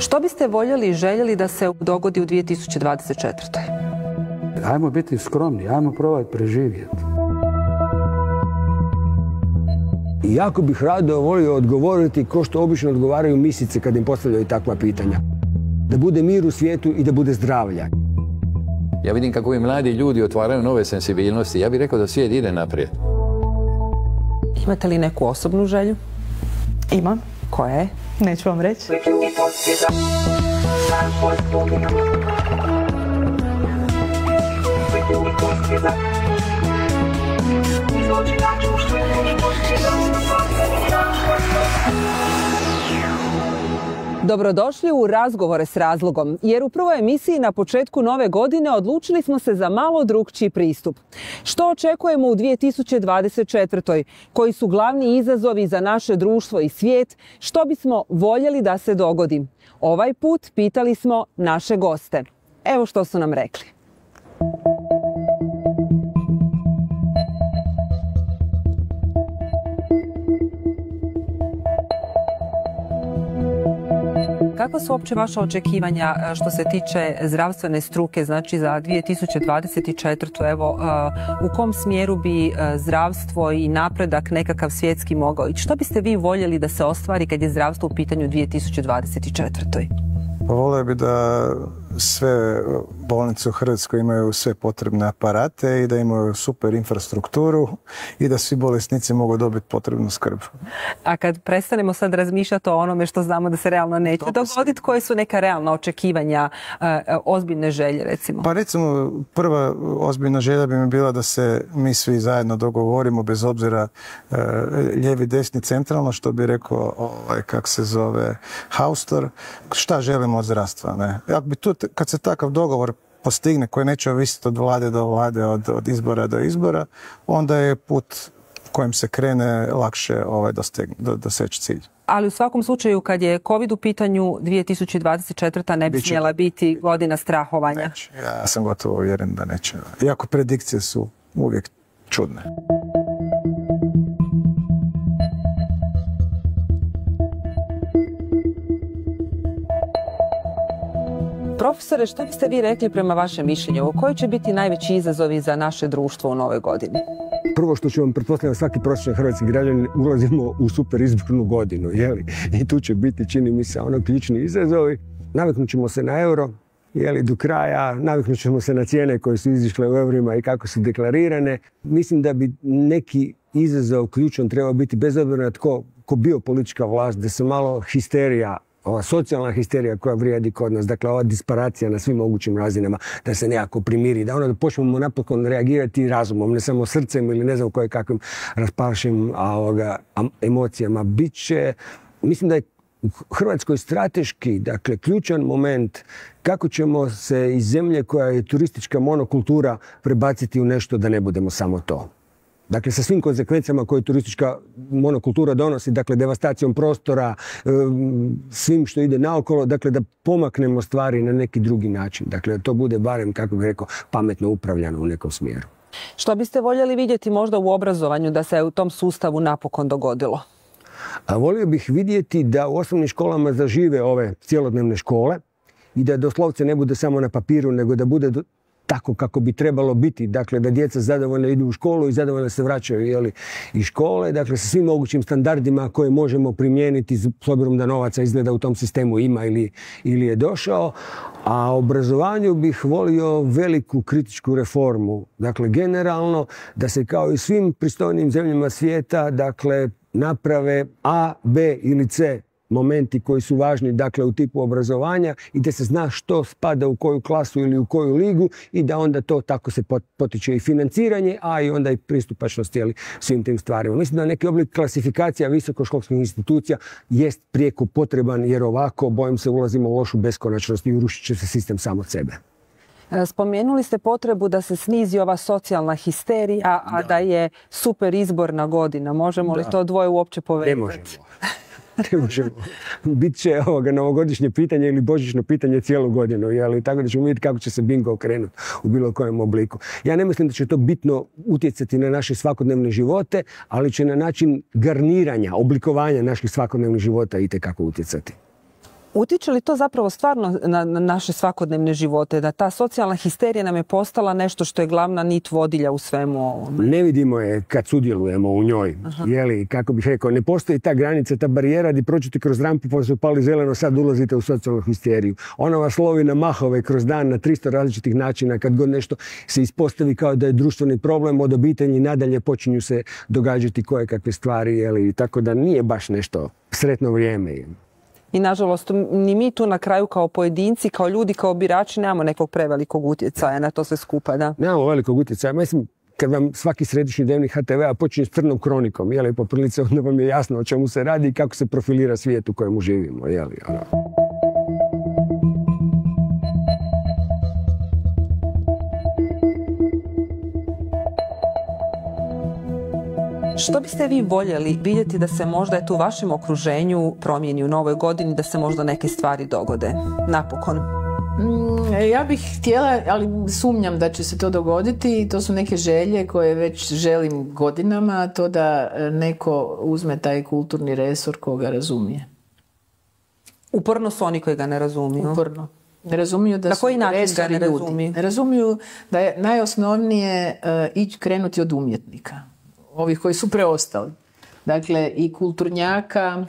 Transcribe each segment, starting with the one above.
Što biste voljeli i željeli da se dogodi u 2024. Ajmo biti skromni, ajmo probati preživjeti. Jako bih rado volio odgovoriti ko što obično odgovaraju misice kad im postavljaju takva pitanja. Da bude mir u svijetu i da bude zdravlja. Ja vidim kako ovi mladi ljudi otvaraju nove senzibilnosti. Ja bih rekao da svijet ide naprijed. Imate li neku osobnu želju? Imam. Koja je? Neću vam reći. Dobrodošli u Razgovore s razlogom, jer u prvoj emisiji na početku nove godine odlučili smo se za malo drukčiji pristup. Što očekujemo u 2024. Koji su glavni izazovi za naše društvo i svijet? Što bismo voljeli da se dogodi? Ovaj put pitali smo naše goste. Evo što su nam rekli. Kakva su uopće vaša očekivanja što se tiče zdravstvene struke, znači za 2024. Evo, u kom smjeru bi zdravstvo i napredak nekakav svjetski mogao ići? Što biste vi voljeli da se ostvari kad je zdravstvo u pitanju 2024. Pa volio bi da sve bolnice u Hrvatskoj imaju sve potrebne aparate i da imaju super infrastrukturu i da svi bolesnici mogu dobiti potrebnu skrb. A kad prestanemo sad razmišljati o onome što znamo da se realno neće dogoditi, koje su neka realna očekivanja, ozbiljne želje recimo? Pa recimo prva ozbiljna želja bi mi bila da se mi svi zajedno dogovorimo bez obzira lijevi, desni, centralno, što bi rekao kak se zove Haustor, šta želimo od zdravstva. Ne? Ako bi tu, kad se takav dogovor postigne koji neće ovisiti od vlade do vlade, od izbora do izbora, onda je put kojim se krene lakše doseći cilj. Ali u svakom slučaju kad je COVID u pitanju 2024. ne bi smjela biti godina strahovanja. Neće. Ja sam gotovo uvjeren da neće. Iako predikcije su uvijek čudne. Profesore, što biste vi rekli prema vašem mišljenju? Koji će biti najveći izazovi za naše društvo u novoj godini? Prvo što ću vam pretpostavljati, svaki prosječan hrvatski građanin, ulazimo u super izbornu godinu, jeli? I tu će biti, čini mi se, ključni izazovi. Naviknut ćemo se na euro, jeli, do kraja, naviknut ćemo se na cijene koje su izišle u eurima i kako su deklarirane. Mislim da bi neki izazov ključan trebao biti, bez obzira na tko bio politička vlast, da se malo histerija, ova socijalna histerija koja vrijedi kod nas, dakle ova disparacija na svim mogućim razinama, da se nekako primiri, da počnemo napokon reagirati razumom, ne samo srcem ili ne znam kakvim raspašim emocijama. Biće, mislim da je u Hrvatskoj strateški, dakle ključan moment kako ćemo se iz zemlje koja je turistička monokultura prebaciti u nešto da ne budemo samo to. Dakle, sa svim konsekvencijama koje turistička monokultura donosi, dakle, devastacijom prostora, svim što ide naokolo, dakle, da pomaknemo stvari na neki drugi način. Dakle, da to bude barem, kako bih rekao, pametno upravljano u nekom smjeru. Što biste voljeli vidjeti možda u obrazovanju da se u tom sustavu napokon dogodilo? A volio bih vidjeti da u osnovnim školama zažive ove cjelodnevne škole i da doslovce ne bude samo na papiru, nego da bude tako kako bi trebalo biti. Dakle, da djeca zadovoljno idu u školu i zadovoljno se vraćaju iz škole. Dakle, sa svim mogućim standardima koje možemo primijeniti s obzirom da novaca izgleda u tom sistemu ima ili je došao. A obrazovanju bih volio veliku kritičku reformu. Dakle, generalno da se kao i svim pristojnim zemljama svijeta, dakle, naprave A, B ili C momenti koji su važni, dakle, u tipu obrazovanja i da se zna što spada u koju klasu ili u koju ligu i da onda to tako se potiče i financiranje, a i onda i pristupačnost svim tim stvarima. Mislim da neki oblik klasifikacija visokoškolskih institucija jest prijeko potreban, jer ovako, bojim se, ulazimo u lošu beskonačnost i urušit će se sistem samo od sebe. Spomenuli ste potrebu da se snizi ova socijalna histerija, a da je super izborna godina. Možemo li to dvoje uopće povezati? Ne možemo. Ne možemo. Biće novogodišnje pitanje ili božićno pitanje cijelu godinu, tako da ćemo vidjeti kako će se bingo okrenuti u bilo kojem obliku. Ja ne mislim da će to bitno utjecati na naše svakodnevne živote, ali će na način garniranja, oblikovanja naših svakodnevnih života itekako utjecati. Utječe li to zapravo stvarno na naše svakodnevne živote, da ta socijalna histerija nam je postala nešto što je glavna nit vodilja u svemu ovome? Ne vidimo je kad sudjelujemo u njoj. Jeli, kako bih rekao, ne postoji ta granica, ta barijera gdje prođete kroz rampu pa se upali zeleno, sad ulazite u socijalnu histeriju. Ona vas lovi na mahove kroz dan na 300 različitih načina kad god nešto se ispostavi kao da je društveni problem od obitelji, nadalje počinju se događati kojekakve stvari, jeli, tako da nije baš nešto sretno vrijeme. I nažalost, ni mi tu na kraju kao pojedinci, kao ljudi, kao birači nemamo nekog prevelikog utjecaja na to sve skupa, da? Nemamo velikog utjecaja. Mislim, kad vam svaki središnji dnevnik HTV-a počinje s crnom kronikom, jeli, po prilici, onda vam je jasno o čemu se radi i kako se profilira svijet u kojemu živimo, jeli, ono. Što biste vi voljeli vidjeti da se možda u vašem okruženju promijeni u novoj godini, da se možda neke stvari dogode? Napokon. Ja bih htjela, ali sumnjam da će se to dogoditi. To su neke želje koje već želim godinama, to da neko uzme taj kulturni resor koga razumije. Uporno su oni koji ga ne razumiju. Uporno. Ne razumiju da su resori ljudi. Ne razumiju da je najosnovnije krenuti od umjetnika. Ovih koji su preostali. Dakle, i kulturnjaka,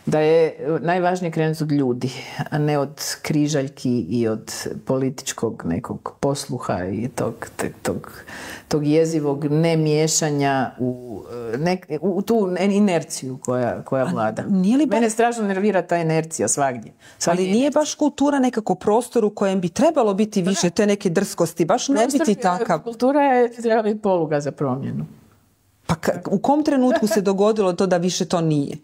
da je najvažnije krenuti od ljudi, a ne od križaljki i od političkog nekog posluha i tog jezivog nemiješanja u tu inerciju koja vlada. Mene strašno nervira ta inercija svagdje. Ali nije baš kultura nekako prostor u kojem bi trebalo biti više te neke drskosti, baš ne biti takav. Kultura je treba biti poluga za promjenu. Pa u kom trenutku se dogodilo to da više to nije?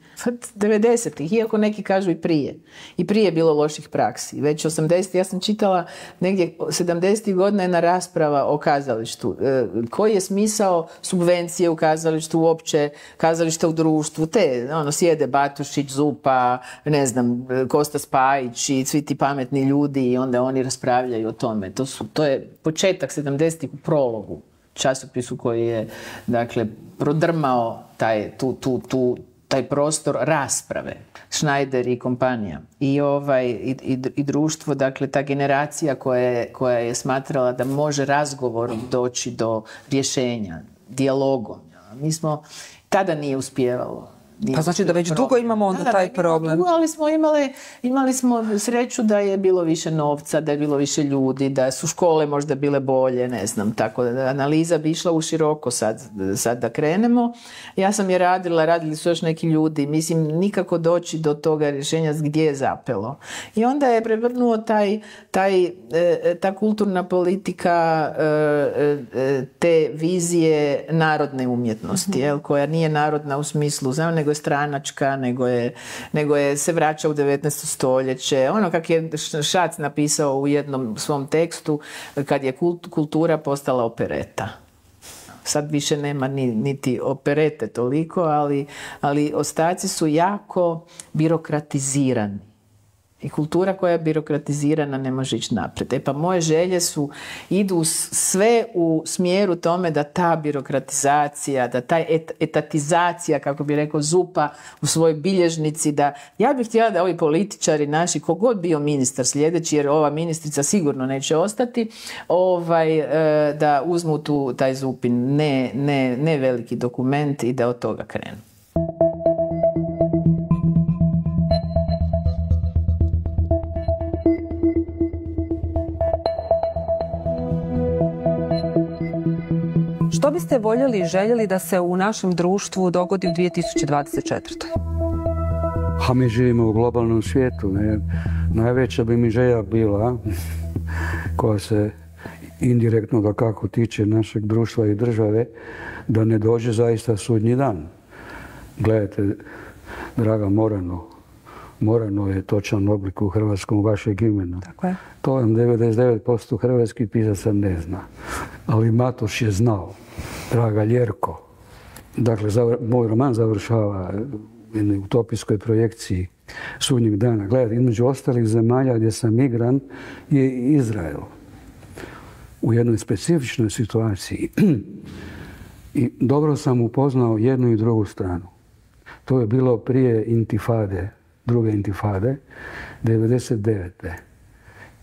90-ih, iako neki kažu i prije. I prije je bilo loših praksi. Već 80-ih, ja sam čitala negdje 70-ih godina jedna rasprava o kazalištu. Koji je smisao subvencije u kazalištu, uopće kazališta u društvu? Sjede Batušić, Zupa, ne znam, Kosta Spajić i svi ti pametni ljudi i onda oni raspravljaju o tome. To je početak 70-ih u Prologu, časopisu koji je, dakle, prodrmao taj prostor rasprave. Schneider i kompanija. I društvo, dakle, ta generacija koja je smatrala da može razgovorom doći do rješenja, dijalogom. Mi smo, tada nije uspijevalo. Pa znači da već dugo imamo onda taj problem. Ali smo imali smo sreću da je bilo više novca, da je bilo više ljudi, da su škole možda bile bolje, ne znam, tako da analiza bi išla u široko sad da krenemo. Ja sam je radili su još neki ljudi, mislim nikako doći do toga rješenja gdje je zapelo. I onda je prevrnuo ta kulturna politika te vizije narodne umjetnosti, koja nije narodna u smislu, nego je stranačka, nego je se vraća u 19. stoljeće. Ono kak je Šac napisao u jednom svom tekstu, kad je kultura postala opereta. Sad više nema niti operete toliko, ali ostaci su jako birokratizirani. I kultura koja je birokratizirana ne može ići naprijed. Pa moje želje idu sve u smjeru tome da ta birokratizacija, da ta etatizacija, kako bi rekao Zupa u svojoj bilježnici, ja bih htjela da ovi političari naši, kogod bio ministar sljedeći, jer ova ministrica sigurno neće ostati, da uzmu taj Zupin ne veliki dokument i da od toga krenu. Što biste voljeli i željeli da se u našem društvu dogodi u 2024. A mi živimo u globalnom svijetu. Ne? Najveća bi mi želja bila, koja se indirektno da kako tiče našeg društva i države, da ne dođe zaista sudnji dan. Gledajte, draga Morano je točan oblik u hrvatskom vašeg imena. Tako je. To vam 99% hrvatskih pisaca ne zna. Ali Matoš je znao. Draga Ljerko. Dakle, moj roman završava u jednoj utopijskoj projekciji sudnjeg dana. Gledajte, između ostalih zemalja gdje sam migrant je Izrael. U jednoj specifičnoj situaciji. I dobro sam upoznao jednu i drugu stranu. To je bilo prije intifade, druge intifade, 99.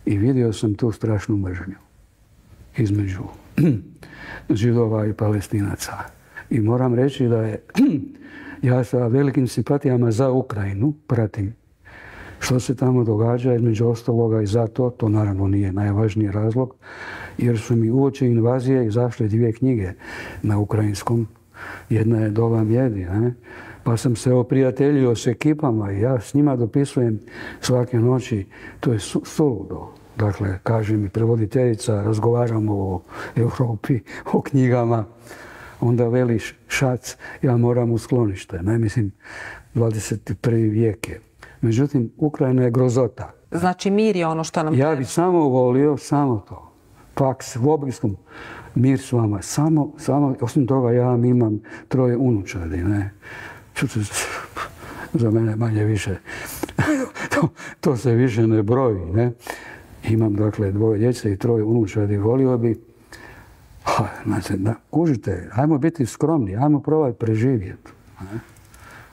I vidio sam tu strašnu mržnju između Židova i Palestinaca. I moram reći da je ja sa velikim simpatijama za Ukrajinu pratim što se tamo događa, između ostaloga i zato, to naravno nije najvažniji razlog, jer su mi uoči invazije izašle 2 knjige na ukrajinskom. Jedna je Doba mjedi, pa sam se oprijateljio s ekipama i ja s njima dopisujem svake noći. To je suludo. Dakle, kaže mi prevoditeljica, razgovaramo o Europi, o knjigama. Onda veliš šac, ja moram u sklonište. Ne, mislim, 21. vijek je. Međutim, Ukrajina je grozota. Znači mir je ono što nam treba. Ja bih samo volio, samo to. Paks, u obriskom mir s vama. Samo, osim toga ja imam 3 unučadi, ne. Za mene manje više. To se više ne broji, ne. Imam, dakle, 2 djece i 3 unučadi. Volio bi, znači, kužite, ajmo biti skromni, ajmo probati preživjeti.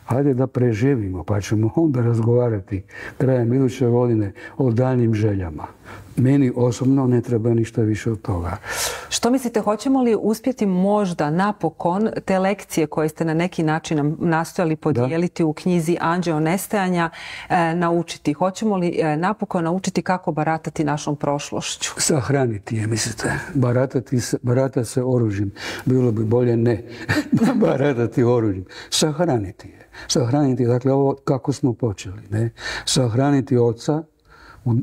Hajde da preživimo, pa ćemo onda razgovarati krajem iduće godine o daljnjim željama. Meni osobno ne treba ništa više od toga. Što mislite, hoćemo li uspjeti možda napokon te lekcije koje ste na neki način nastojali podijeliti u knjizi Anđeo nestajanja naučiti? Hoćemo li napokon naučiti kako baratati našom prošlošću? Sahraniti je, mislite. Baratati se oružjem. Bilo bi bolje ne baratati oružjem. Sahraniti je. Sahraniti, dakle, ovo kako smo počeli. Ne? Sahraniti oca u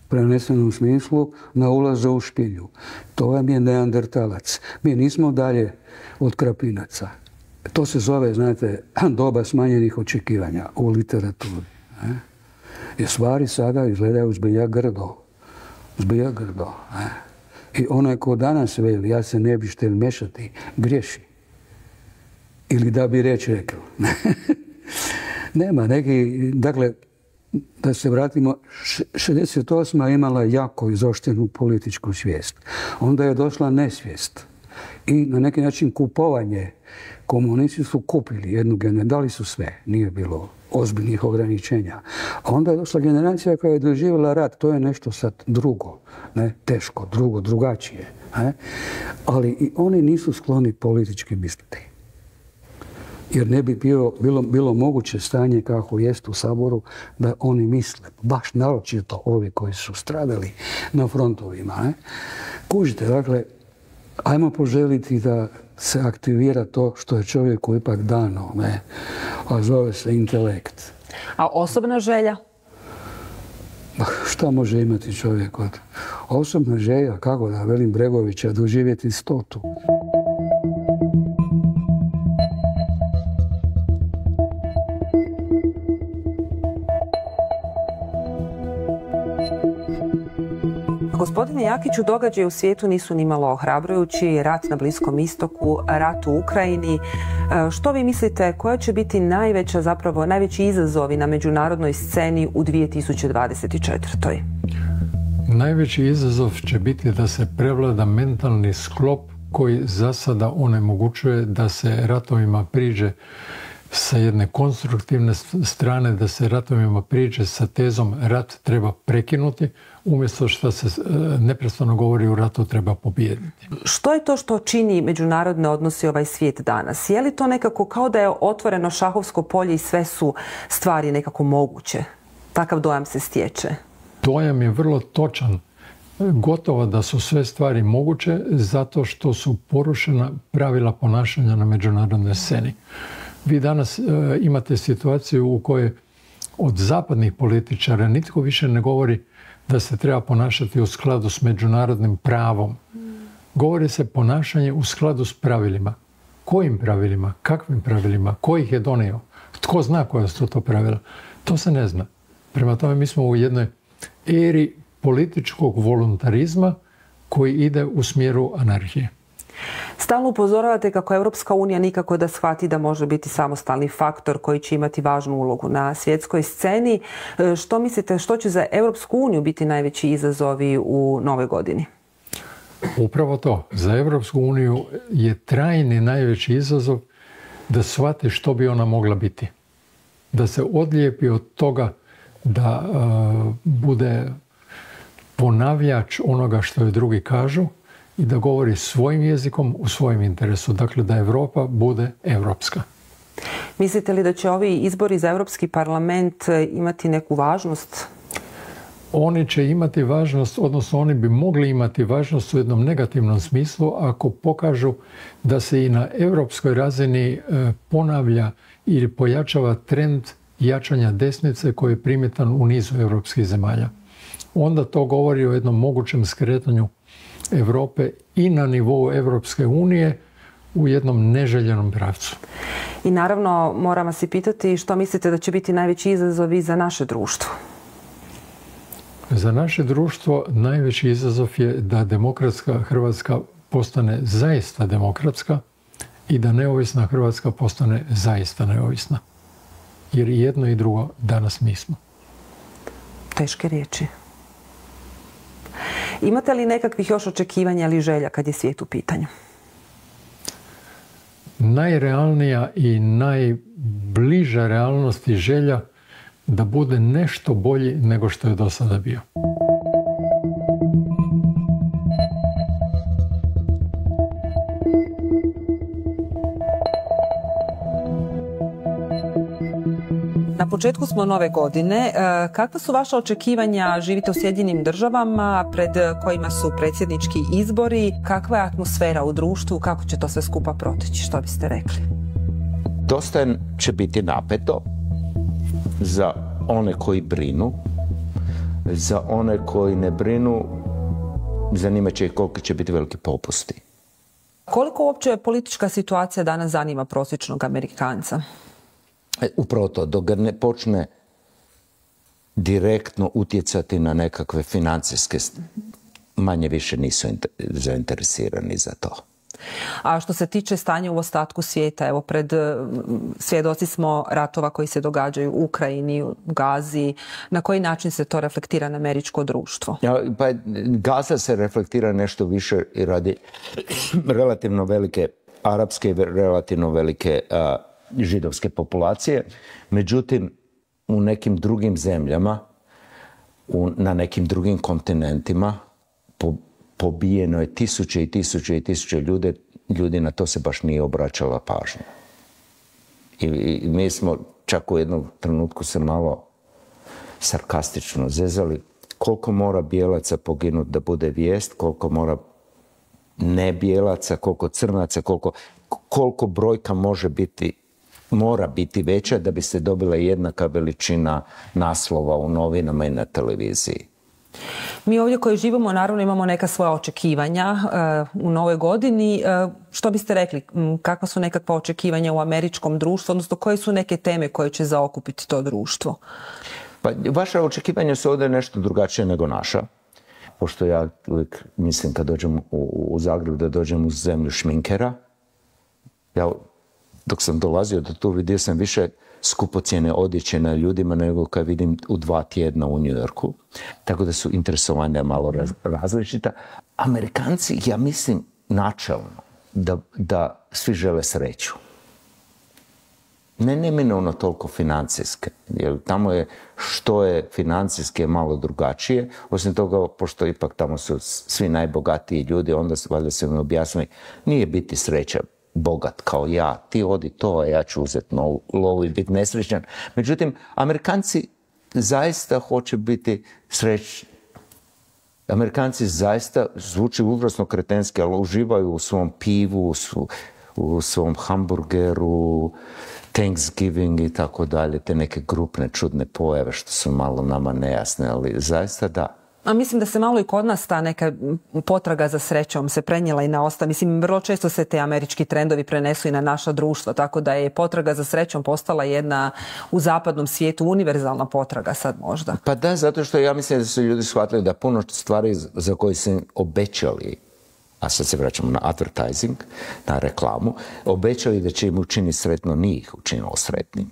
prenesenom smislu na ulazu u špilju. To vam je neandertalac. Mi nismo dalje od krapinaca. To se zove, znate, doba smanjenih očekivanja u literaturi. Jer stvari sada izgledaju zbilja grdo. Zbilja grdo. I onaj ko danas veli, ja se ne bi štel mešati, griješi. Ili da bi reč rekao. Nema neki, dakle, da se vratimo, 68. imala jako izoštrenu političku svijest. Onda je došla nesvijest. I na neki način kupovanje. Komunisti su kupili jednu generaciju, dali su sve, nije bilo ozbiljnih ograničenja. A onda je došla generacija koja je doživjela rat, to je nešto sad drugo, ne, teško, drugačije. Ne? Ali i oni nisu skloni politički misliti. Jer ne bi bilo moguće stanje kako jest u Saboru da oni misle, baš naročito ovi koji su stradali na frontovima. Ne? Kužite, dakle, ajmo poželiti da se aktivira to što je čovjeku ipak dano, ne? A zove se intelekt. A osobna želja? Šta može imati čovjek od osobna želja, kako da velim Bregovića, doživjeti 100. Gospodine Jakiću, događaji u svijetu nisu nimalo ohrabrujući. Rat na Bliskom istoku, rat u Ukrajini. Što vi mislite, koja će biti najveći izazovi na međunarodnoj sceni u 2024. Najveći izazov će biti da se prevlada mentalni sklop koji za sada onemogućuje da se ratovima priđe sa jedne konstruktivne strane, da se ratovima priđe sa tezom rat treba prekinuti, umjesto što se neprestano govori u ratu treba pobijediti. Što je to što čini međunarodne odnose ovaj svijet danas? Je li to nekako kao da je otvoreno šahovsko polje i sve su stvari nekako moguće? Takav dojam se stječe. Dojam je vrlo točan. Gotovo da su sve stvari moguće zato što su porušena pravila ponašanja na međunarodnoj sceni. Vi danas imate situaciju u kojoj od zapadnih političara nitko više ne govori da se treba ponašati u skladu s međunarodnim pravom. Govori se ponašanje u skladu s pravilima. Kojim pravilima? Kakvim pravilima? Ko ih je donio? Tko zna koja su to pravila? To se ne zna. Prema tome mi smo u jednoj eri političkog voluntarizma koji ide u smjeru anarhije. Stalno upozoravate kako Europska unija nikako da shvati da može biti samostalni faktor koji će imati važnu ulogu na svjetskoj sceni. Što mislite, što će za Europsku uniju biti najveći izazovi u nove godini? Upravo to. Za Europsku uniju je trajni najveći izazov da shvati što bi ona mogla biti. Da se odlijepi od toga da bude ponavljač onoga što joj drugi kažu i da govori svojim jezikom u svojem interesu. Dakle, da Europa bude europska. Mislite li da će ovi izbori za Europski parlament imati neku važnost? Oni će imati važnost, odnosno oni bi mogli imati važnost u jednom negativnom smislu ako pokažu da se i na europskoj razini ponavlja ili pojačava trend jačanja desnice koji je primjetan u nizu europskih zemalja. Onda to govori o jednom mogućem skretanju Europe i na nivou Europske unije u jednom neželjenom pravcu. I naravno, moram vas i pitati što mislite da će biti najveći izazovi za naše društvo? Za naše društvo najveći izazov je da demokratska Hrvatska postane zaista demokratska i da neovisna Hrvatska postane zaista neovisna. Jer i jedno i drugo danas nismo. Teške riječi. Imate li nekakvih još očekivanja ili želja kad je svijet u pitanju? Najrealnija i najbliža realnost i želja da bude nešto bolji nego što je do sada bio. Na početku smo nove godine. Kakva su vaša očekivanja? Živite u Sjedinjenim Državama, pred kojima su predsjednički izbori. Kakva je atmosfera u društvu? Kako će to sve skupa proteći? Što biste rekli? Dosta će biti napeto za one koji brinu. Za one koji ne brinu, zanimat će ih koliko će biti veliki popusti. Koliko uopće politička situacija danas zanima prosječnog Amerikanca? Upravo to, dok ga ne počne direktno utjecati na nekakve financijske, manje više nisu zainteresirani za to. A što se tiče stanja u ostatku svijeta, evo svjedoci smo ratova koji se događaju u Ukrajini, u Gazi. Na koji način se to reflektira na američko društvo? Pa Gaza se reflektira nešto više i radi relativno velike arapske i relativno velike židovske populacije. Međutim, u nekim drugim zemljama, na nekim drugim kontinentima, pobijeno je tisuće i tisuće i tisuće ljudi, na to se baš nije obraćala pažnja. I mi smo čak u jednom trenutku se malo sarkastično zezali koliko mora bijelaca poginuti da bude vijest, koliko mora nebijelaca, koliko crnaca, koliko brojka mora biti veća da bi se dobila jednaka veličina naslova u novinama i na televiziji. Mi ovdje koji živimo naravno imamo neka svoja očekivanja u novoj godini. Što biste rekli, kakva su nekakva očekivanja u američkom društvu, odnosno koje su neke teme koje će zaokupiti to društvo? Pa, vaša očekivanja su ovdje nešto drugačije nego naša. Pošto ja uvijek mislim kad dođem u Zagreb da dođem u zemlju šminkera. Ja dok sam dolazio do tu vidio sam više skupocjene odjeće na ljudima nego kad vidim u 2 tjedna u New Yorku. Tako da su interesovanja malo različita. Amerikanci, ja mislim načelno, da svi žele sreću. Ne neminovno toliko financijske, jer tamo je što je financijski malo drugačije. Osim toga, pošto ipak tamo su svi najbogatiji ljudi, onda valjda se mi objasnili, nije biti sreća bogat kao ja, ti odi to, a ja ću uzeti lovu i biti nesrećan. Međutim, Amerikanci zaista hoće biti srećni. Amerikanci zaista zvuči užasno kretenski, ali uživaju u svom pivu, u svom hamburgeru, Thanksgiving i tako dalje, te neke grupne čudne pojave što su malo nama nejasne, ali zaista da. A mislim da se malo i kod nas ta neka potraga za srećom se prenijela i na ostalo. Mislim, vrlo često se te američki trendovi prenesu i na naša društva, tako da je potraga za srećom postala jedna u zapadnom svijetu univerzalna potraga sad možda. Pa da, zato što ja mislim da su ljudi shvatili da puno stvari za koje su im obećali, a sad se vraćamo na advertising, na reklamu, obećali da će im učiniti sretno, nije ih učinilo sretnim.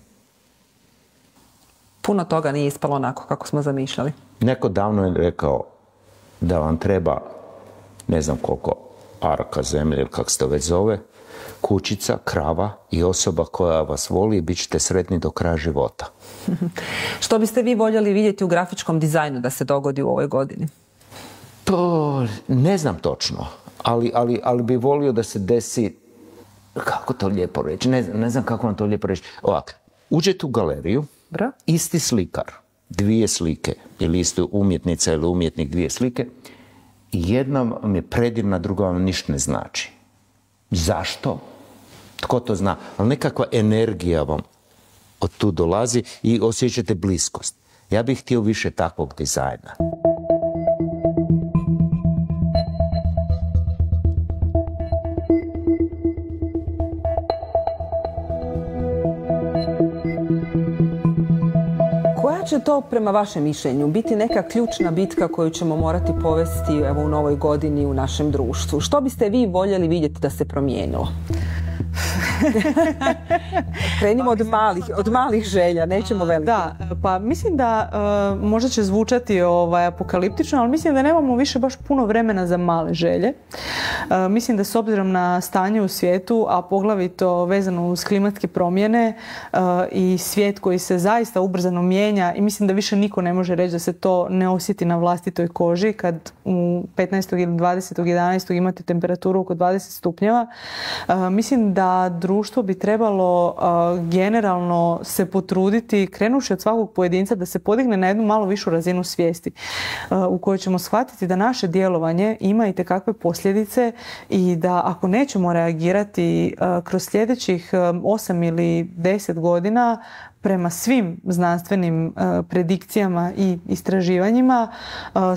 Puno toga nije ispalo onako kako smo zamišljali. Neko davno je rekao da vam treba, ne znam koliko araka zemlje ili kako se to već zove, kućica, krava i osoba koja vas voli i bit ćete sretni do kraja života. Što biste vi voljeli vidjeti u grafičkom dizajnu da se dogodi u ovoj godini? To ne znam točno, ali bi volio da se desi, kako to lijepo reći, ne znam kako vam to lijepo reći. Ovako, uđete u galeriju, isti slikar, dvije slike, ili isti umjetnica ili umjetnik dvije slike, jedna vam je predivna, druga vam ništa ne znači. Zašto? Tko to zna? Ali nekakva energija vam od tu dolazi i osjećate bliskost. Ja bih htio više takvog dizajna. Koja će to, prema vašem mišljenju, biti neka ključna bitka koju ćemo morati povesti u novoj godini u našem društvu? Što biste vi voljeli vidjeti da se promijenilo? Krenimo od malih želja, nećemo velike. Da, pa mislim da možda će zvučati apokaliptično, ali mislim da nemamo više baš puno vremena za male želje. Mislim da s obzirom na stanje u svijetu, a poglavito vezano uz klimatske promjene i svijet koji se zaista ubrzano mijenja, i mislim da više niko ne može reći da se to ne osjeti na vlastitoj koži kad u 15. ili 20. 11. imate temperaturu oko 20 stupnjeva. Mislim da društvo bi trebalo generalno se potruditi, krenuši od svakog pojedinca, da se podigne na jednu malo višu razinu svijesti u kojoj ćemo shvatiti da naše djelovanje ima itekakve posljedice i da ako nećemo reagirati kroz sljedećih 8 ili 10 godina prema svim znanstvenim predikcijama i istraživanjima,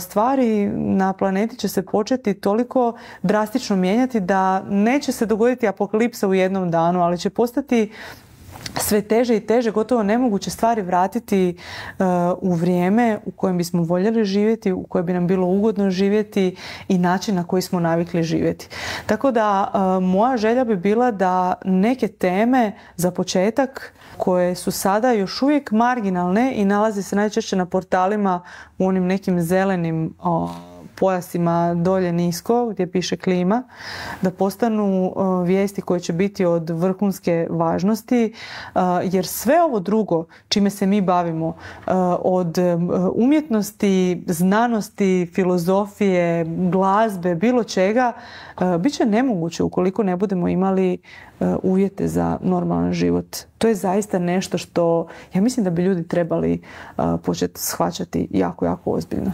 stvari na planeti će se početi toliko drastično mijenjati da neće se dogoditi apokalipsa u jednom danu, ali će postati sve teže i teže, gotovo nemoguće stvari vratiti u vrijeme u kojem bismo voljeli živjeti, u kojem bi nam bilo ugodno živjeti i način na koji smo navikli živjeti. Tako da moja želja bi bila da neke teme za početak koje su sada još uvijek marginalne i nalaze se najčešće na portalima u onim nekim zelenim pojasima dolje nisko gdje piše klima, da postanu vijesti koje će biti od vrhunske važnosti, jer sve ovo drugo čime se mi bavimo, od umjetnosti, znanosti, filozofije, glazbe, bilo čega, bit će nemoguće ukoliko ne budemo imali uvjete za normalan život. To je zaista nešto što ja mislim da bi ljudi trebali početi shvaćati jako, jako ozbiljno.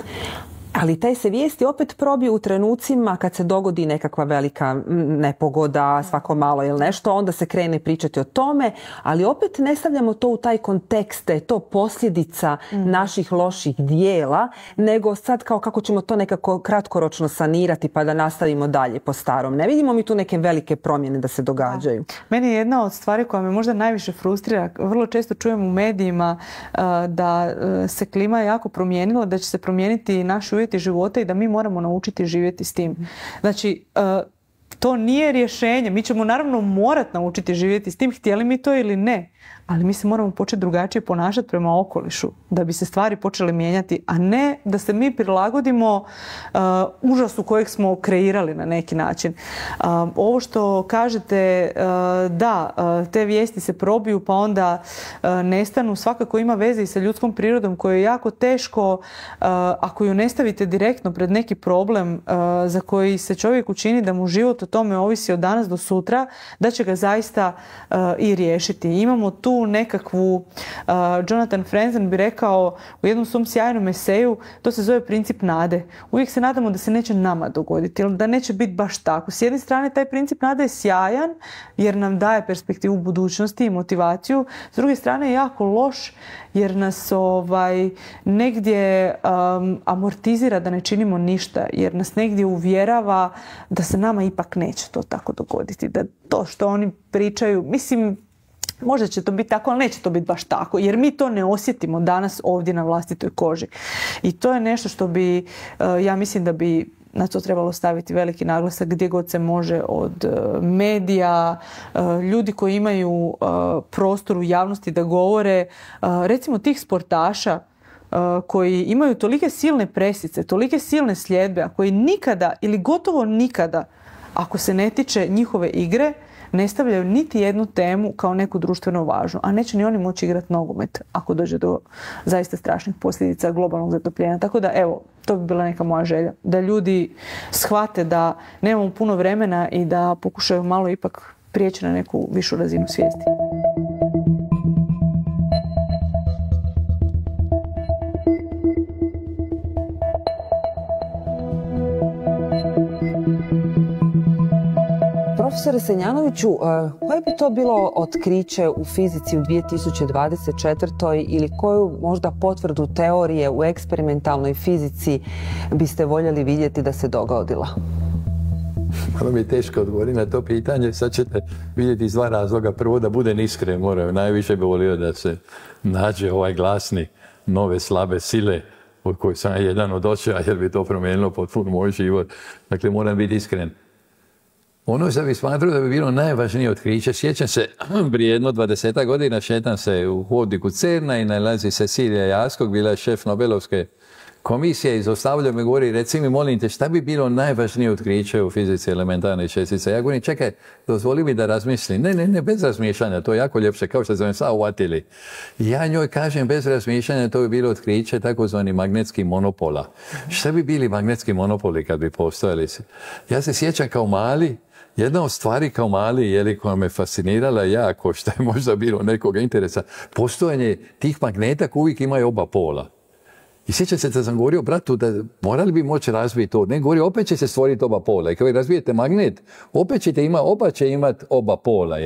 Ali taj se vijesti opet probiju u trenucima kad se dogodi nekakva velika nepogoda, svako malo ili nešto, onda se krene pričati o tome, ali opet ne stavljamo to u taj kontekst da je to posljedica naših loših dijela, nego sad kao kako ćemo to nekako kratkoročno sanirati pa da nastavimo dalje po starom. Ne vidimo mi tu neke velike promjene da se događaju. Meni je jedna od stvari koja me možda najviše frustrira, vrlo često čujem u medijima da se klima jako promijenila, da će se promijeniti naši uvjeti života i da mi moramo naučiti živjeti s tim. Znači, to nije rješenje. Mi ćemo naravno morati naučiti živjeti s tim, htjeli mi to ili ne. Ali mi se moramo početi drugačije ponašati prema okolišu da bi se stvari počele mijenjati, a ne da se mi prilagodimo užasu kojeg smo kreirali na neki način. Ovo što kažete, da, te vijesti se probiju pa onda nestanu, svakako ima veze i sa ljudskom prirodom koju je jako teško, ako ju ne stavite direktno pred neki problem za koji se čovjek učini da mu život o tome ovisi od danas do sutra, da će ga zaista i riješiti. Imamo tu nekakvu, Jonathan Franzen bi rekao u jednom svom sjajnom eseju, to se zove princip nade. Uvijek se nadamo da se neće nama dogoditi, ili da neće biti baš tako. S jedne strane, taj princip nade je sjajan, jer nam daje perspektivu budućnosti i motivaciju. S druge strane, je jako loš, jer nas negdje amortizira da ne činimo ništa, jer nas negdje uvjerava da se nama ipak neće to tako dogoditi. Da to što oni pričaju, mislim, možda će to biti tako, ali neće to biti baš tako, jer mi to ne osjetimo danas ovdje na vlastitoj koži. I to je nešto što bi, ja mislim da bi na to trebalo staviti veliki naglasak gdje god se može, od medija, ljudi koji imaju prostor u javnosti da govore, recimo tih sportaša koji imaju tolike silne presice, tolike silne sljedbe, a koji nikada ili gotovo nikada, ako se ne tiče njihove igre, ne stavljaju niti jednu temu kao neku društveno važnu, a neće ni oni moći igrati nogomet ako dođe do zaista strašnih posljedica globalnog zatopljenja. Tako da, evo, to bi bila neka moja želja. Da ljudi shvate da nemamo puno vremena i da pokušaju malo ipak prijeći na neku višu razinu svijesti. Profesore Senjanoviću, koje bi to bilo otkriće u fizici u 2024. ili koju možda potvrdu teorije u eksperimentalnoj fizici biste voljeli vidjeti da se dogodila? Malo mi je teško odgovoriti na to pitanje. Sad ćete vidjeti iz dva razloga. Prvo, da budem iskren, najviše bi volio da se nađe ovaj glasni nove slabe sile od kojih sam jedan od očeva, jer bi to promijenilo potpuno moj život. Dakle, moram biti iskren. Ono što bi smatrao da bi bilo najvažnije otkriće, sjećam se, prije jedno 20 godina šetam se u hodniku CERN-a i nalazi se Cecilija Jaskog, bila je šef Nobelovske komisije i zaustavlja me, govori, reci mi, molim te, šta bi bilo najvažnije otkriće u fizici elementarnih čestica? Ja govorim, čekaj, dozvoli mi da razmislim. Ne, bez razmišljanja, to je jako ljepše, kao što smo sad uvatili. Ja njoj kažem, bez razmišljanja, to bi bilo otkriće takozvani magnetski monopola. Šta bi bili magnetski monopoli kad bi postojali? Ja se sjećam kao mali, jedna od stvari kao mali, koja me fascinirala jako, što je možda bilo nekoga interesa, postojanje tih magneta koji uvijek imaju oba pola. I sjećam se da sam govorio bratu da morali bi moći razviti to. Ne, govorio, opet će se stvoriti oba pola. I kada razvijete magnet, opet ćete oba će imati oba pola.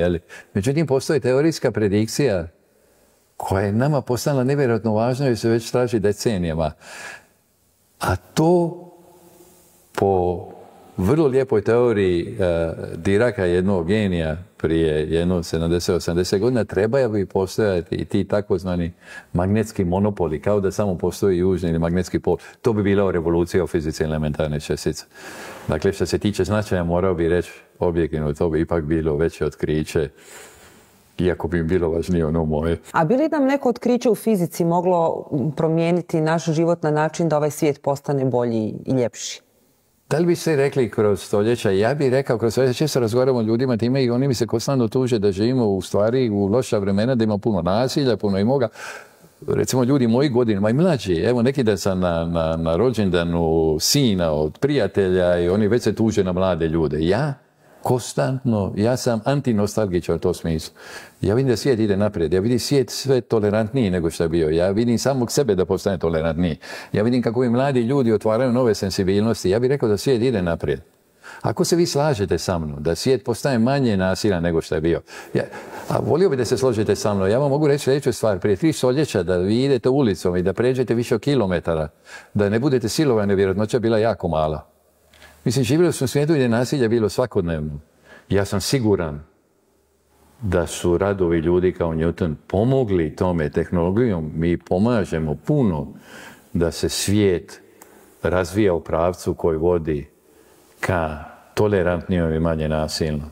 Međutim, postoji teorijska predikcija koja je nama postala nevjerojatno važna i se već traži decenijama. A to po vrlo lijepoj teoriji Diraka, jednog genija prije jedno 70-80 godina, trebaju bi postojati i ti takozvani magnetski monopoli, kao da samo postoji južni ili magnetski pol. To bi bila revolucija u fizici elementarne čestice. Dakle, što se tiče značaja, morao bi reći objektivno, to bi ipak bilo veće otkriće, iako bi im bilo važnije ono moje. A bi li nam neko otkriće u fizici moglo promijeniti naš život na način da ovaj svijet postane bolji i ljepši? Da li bi se rekli kroz stoljeća? Ja bih rekao kroz stoljeća, često razgovaramo o ljudima time i oni mi se konstantno tuže da živimo u stvari u loša vremena, da ima puno nasilja, puno imoga. Recimo ljudi mojih godina, i mlađi, evo neki da sam na rođendanu sina od prijatelja i oni već se tuže na mlade ljude. Ja sam antinostalgičan u tom smislu. Ja vidim da svijet ide naprijed. Ja vidim svijet sve tolerantniji nego što je bio. Ja vidim samog sebe da postane tolerantniji. Ja vidim kako i mladi ljudi otvaraju nove sensibilnosti. Ja bih rekao da svijet ide naprijed. Ako se vi slažete sa mnom da svijet postaje manje nasilan nego što je bio, a volio bih da se složite sa mnom, ja vam mogu reći sljedeću stvar. Prije 3 stoljeća da vi idete ulicom i da pređete više od kilometara, da ne budete silovani, vjerojatnoća je bila jako mala. Mislim, živjeli smo u svijetu gdje je nasilje bilo svakodnevno. Ja sam siguran da su radovi ljudi kao Newton pomogli tome tehnologijom. Mi pomažemo puno da se svijet razvija u pravcu koji vodi ka tolerantnijom i manje nasilnom.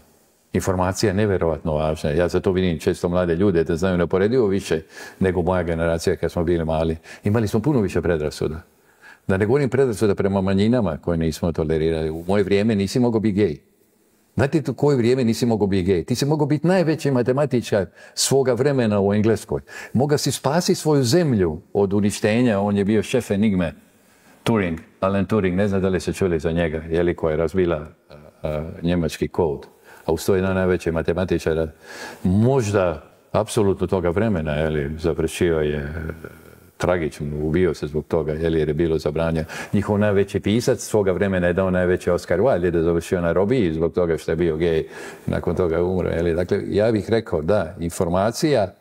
Informacija je nevjerojatno važna. Ja za to vidim često mlade ljude da znaju neuporedivo više nego moja generacija kad smo bili mali. Imali smo puno više predrasuda. Da ne govorim predrasuda prema manjinama koje nismo tolerirali. U moje vrijeme nisi mogao biti gej. Znate u koje vrijeme nisi mogao biti gej? Ti si mogao biti najveći matematičar svoga vremena u Engleskoj. Mogao si spasiti svoju zemlju od uništenja. On je bio šef enigme. Turing, Alan Turing, ne znam da li se čuli za njega, koja je razvila njemački kod. A uz to je jedan najveći matematičar. Možda apsolutno toga vremena, završio je tragično, ubio se zbog toga, jer je bilo zabranjeno. Njihov najveći pisac svoga vremena je dao najveći Oscar Wilde, jer je završio na robiji zbog toga što je bio gej, nakon toga je umro. Dakle, ja bih rekao da informacija,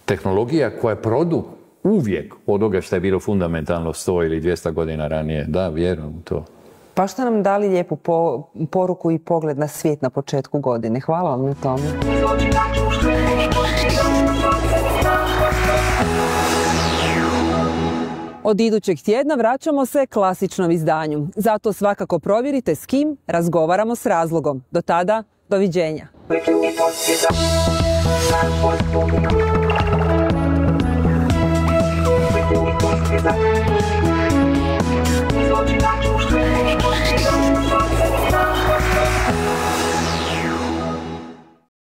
tehnologija koja je produkt uvijek od toga što je bilo fundamentalno 100 ili 200 godina ranije. Da, vjerujem u to. Pa što nam dali lijepu poruku i pogled na svijet na početku godine. Hvala vam na tome. Od idućeg tjedna vraćamo se klasičnom izdanju. Zato svakako provjerite s kim razgovaramo s razlogom. Do tada, doviđenja. Zločinačko štreće.